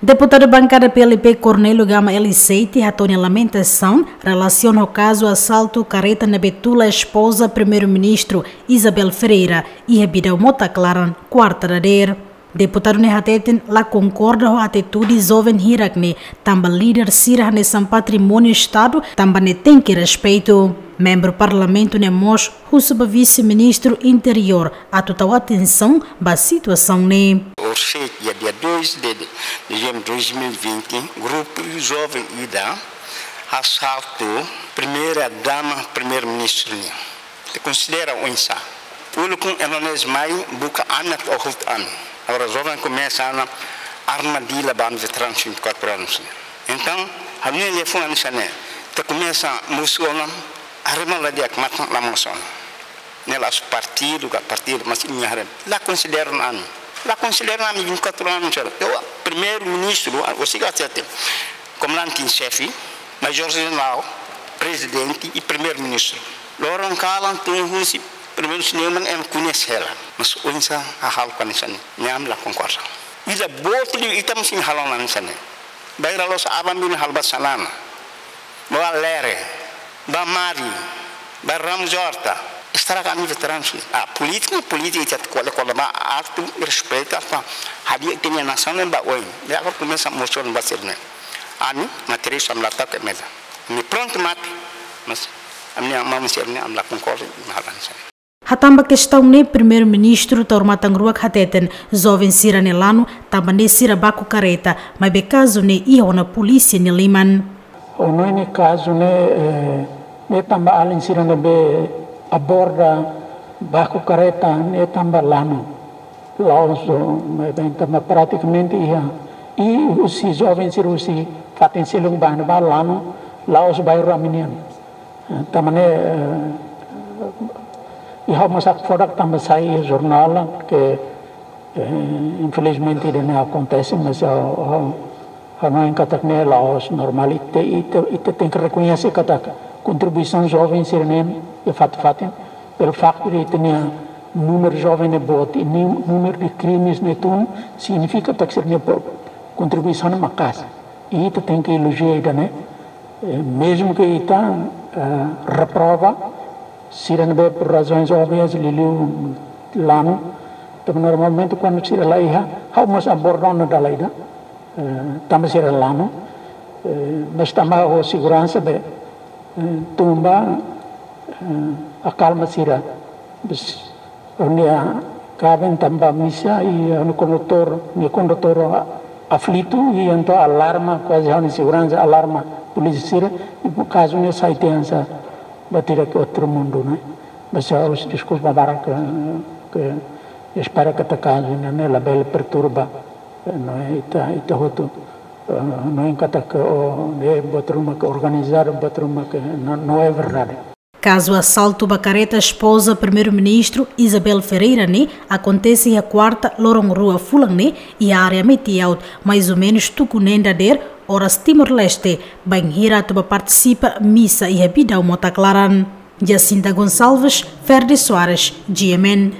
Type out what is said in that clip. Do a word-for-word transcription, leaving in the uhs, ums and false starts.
Deputadu bankada P L P Cornélio Gama Elisseite hato'o nia lamentasaun relasiona ho kazu asaltu kareta ne'ebé tula espoza Primeiru-Ministru Isabel Ferreira iha Bidau Mota Klaran, kuarta dadeer. Deputadu ne'e hateten la konkorda ho atitude joven hirak ne'e, tanba líder sira hanesan patrimóniu Estadu, tanba ne'e tenke respeitu. Membru Parlamentu ne'e mós husu ba Vise-Ministru Interiór atu tau atensaun ba situasaun ne'e. Orsida, dia dois de dezembro de dois mil e vinte, grupu joven ida asaltu Primeira Dama Primeiru-Ministru nian. Ita konsidera oinsá? Públiku ema ne'e mai buka ami atu hotu ami. Agora joven komesa ona armadilha ba ami veteranu vinte e quatro anos. Entaun, ami-nia liafuan hanesan ne'e. Ita komesa mosu ona, haree malu di'ak, matan la mosu ona. Ne'e la'ós partidu ka partidu, mas imi haree. La konsidera ona ami. La konsidera ona ami vinte e quatro anos, sira. Entaun, Primeiru-Ministru, orsida hatete, Komandante em Xefe, Major Jenerál, Prezidente i Primeiru-Ministru. Loron kalan tun husi Primeiru-Ministru ne'e ema koñese hela. Mas oinsá hahalok hanesan ne'e? Ne'e ami la konkorda. Ita boot liu, ita mós sei halo hanesan ne'e. Bainhira la'ós aban-bainrua halo ba Xanana, ba Lere, ba Mari, ba Ramos Horta, estraga ami veteranu sira. Ah, polítika, polítika, ita ko'alia, ko'alia ba atu respeita, atu hadi'a ita-nia nasaun ba oin. Ne'e agora komesa mosu ona ba sira-ne'e. Ami, materiál ami la tau ke meza. Ami prontu mate, mas ami-nia maun sira-ne'e ami la konkorda, ami halo hanesan ne'e. Hatán ba kestaun ne'e, Primeiru-Ministru Taur Matan Ruak hateten, joven sira-ne'e lanu, tanba ne'e sira baku kareta, maibé kazu ne'e iha ona polísia nia liman. Ha'u hanoin kazu ne'e, eh, ne'e tanba alin sira ne'ebé aborda baku kareta, ne'e tanba lanu. La'ós, maibé tanba pratikamente iha. I husi joven sira husi fatin seluk ba ne'ebá lanu, la'ós bairru ami-nian. Eh, tanba ne'e, eh, i ha'u mós hakfodak tanba sai jornál, ke, eh, infelizmente ida-ne'e akontese, mas ha'u, ha'u, ha'u hanoin katak ne'e la'ós normál, ita, ita, ita tenke rekoñese katak kontribuisaun joven sira-nian iha fatin-fatin, pelo facto de ita-nia númeru joven ne'e boot, i ni-, númeru de krimes ne'e tun, signifika katak sira-nia po-, kontribuisaun ne'e maka'as. I ita tenke elojia ida-ne'e, eh, mezmu ke ita, eh, reprova, sira ne'ebé por razoens óbvias, liuliu lanu, tanba normalmente kuandu sira la iha, ha'u mós aborda ona dala ida, eh, tanba sira lanu, eh, mas tanba ho seguransa be, eh, tun ba, eh, akalma sira. Bes, ha'u-nia kaben tama ba misa i ha'u-nia kondutór, nia kondutór a-, aflitu i entaun alarma, kuaze ha'u-nia seguransa alarma polísia sira, i kazu ne'e sai tiha hanesan ba tiha ke outro mundo, ne'e? Mas ha'u deskulpa barak ke, ke espera katak kazu ne'e labele perturba, eh, ne'e, ita, ita hotu, eh, hanoin katak, oh, ne'e buat ruma ke organizadu, buat ruma ke não, não é verdade. Kazu asaltu ba kareta espoza Primeiru-Ministru Isabel Ferreira ne'e akontese iha kuarta loron rua fulan ne'e iha área Metiaut, mais ou menus tuku neen dadeer, oras Timor-Leste, bainhira atu ba partisipa misa iha Bidau Mota Klaran. Jacinta Gonçalves, Ferdi Soares, G M N.